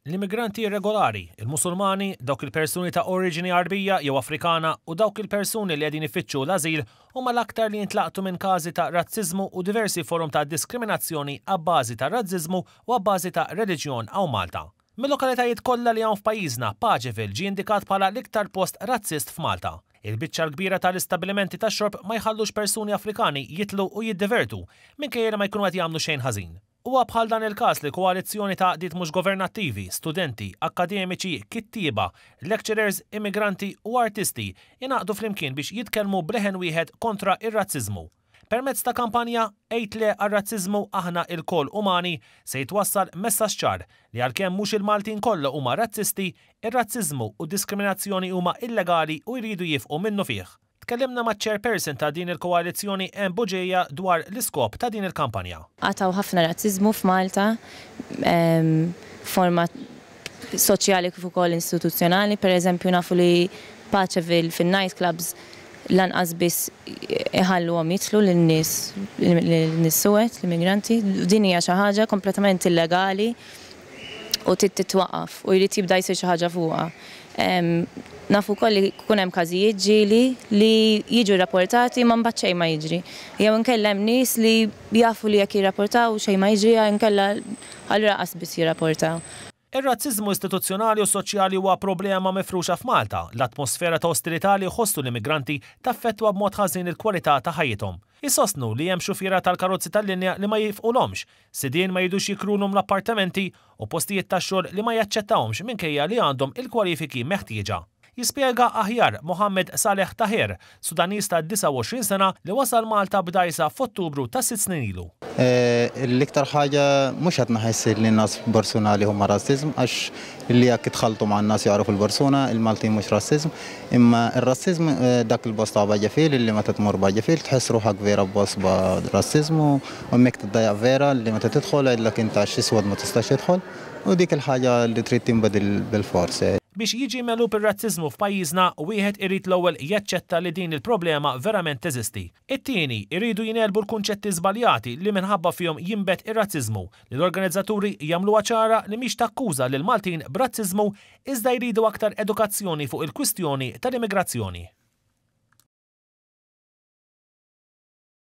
L-immigranti irregolari, il-Musulmani, dawk il-persuni ta' oriġini Għarbija jew Afrikana u dawk il-persuni li qegħdin ifittxu l-ażil huma l-aktar li jintlaqtu minn każi ta' razziżmu u diversi forom ta' diskriminazzjoni abbażi ta' razziżmu u abbażi ta' reliġjon hawn Malta. Mil-lokalitajiet kollha li hawn f'pajjiżna, Paceville ġie indikat bħala l-iktar post razzist f'Malta. Il-biċċa l-kbira tal-istabbilimenti tax-xorb ma jħallux persuni Afrikani jidħlu u jiddivertu, minkejja li ma jkunu qed jagħmlu xejn ħażin. Huwa bħal dan il-każ li koalizzjoni ta' għaqdiet mhux governattivi, studenti, akkademiċi, kittieba, lecturers, immigranti u artisti ingħaqdu flimkien biex jitkellmu b'leħen wieħed kontra r-razziżmu. Permezz ta' kampanja Għid Le għar-Razziżmu Aħna Ilkoll Umani se jitwassal messaġġ ċar li għalkemm mhux il-Maltin kollha huma razzisti, ir-razziżmu u d-diskriminazzjoni huma illegali u jridu jiefqu minnufih. Tkellimna maċ-Chairperson ta' din il-koalizzjoni Anne Bugeja dwar l-iskop ta' din il-kampanja. Għad hawn ħafna razziżmu f'Malta, f'forma soċjali kif ukoll istituzzjonali. Per eżempju nafu li Paceville fin-night clubs lanqas biss iħalluhom jidħlu lin-nies lin-nies suwed, l-immigranti. Din hija xi ħaġa kompletament illegali u trid titwaqqaf u jrid jibda jsir xi ħaġa fuqha. Nafu wkoll li jkun hemm każijiet ġieli li jiġu rrapportati ma mbagħad xejn ma jiġri. Jew inkella hemm nies li jafu li jekk jirrapportaw xejn ma jiġri inkella allura qas biss jirrapportaw. Ir-razziżmu istituzzjonali u soċjali huwa problema mifruxa f'Malta. L-atmosfera ta' ostilità li jħossu l-immigranti taffettwa b'mod ħażin il-kwalità ta' ħajjithom. Isostnu li hemm xufiera tal-karozzi tal-linja li ma jifqulhomx, sidien ma jridux jikrulhom l-appartamenti u postijiet tax-xogħol li ma jaċċettahomx minkejja li għandhom il-kwalifiki meħtieġa. Jispjega aħjar Mohammed Saleh Taher, Sudaniż ta' 29 sena li wasal Malta b'dgħajsa f'Ottubru ta' sitt snin ilu. L-iktar ħaġa mhux qed naħess li n-nas b'personali huma rassiżm għax li jekk itħalltu ma' n-nas jagħrfu l-persuna, il-Maltin mhux rassiżm, imma r-rassiżm dak il-bost ta' Baġefil li meta tmur Baġefil tħoss ruħak vera b'bost b'rassiżm u hemmhekk tiddejjaq vera li meta tidħol jgħidlek int għax iswed ma tistax tidħol u dik il-ħaġa li trid tinbidel bilfors. Biex jiġi megħlub ir-razziżmu f'pajjiżna, wieħed irid l-ewwel jaċċetta li din il-problema verament teżisti. It-tieni, iridu jingħelbu l-kunċetti żbaljati li minħabba fihom jinbet ir-razziżmu, li l-organizzaturi jagħmluha ċara li mhix takkuża lill-Maltin b'razziżmu iżda jridu aktar edukazzjoni fuq il-kwistjoni tal-immigrazzjoni.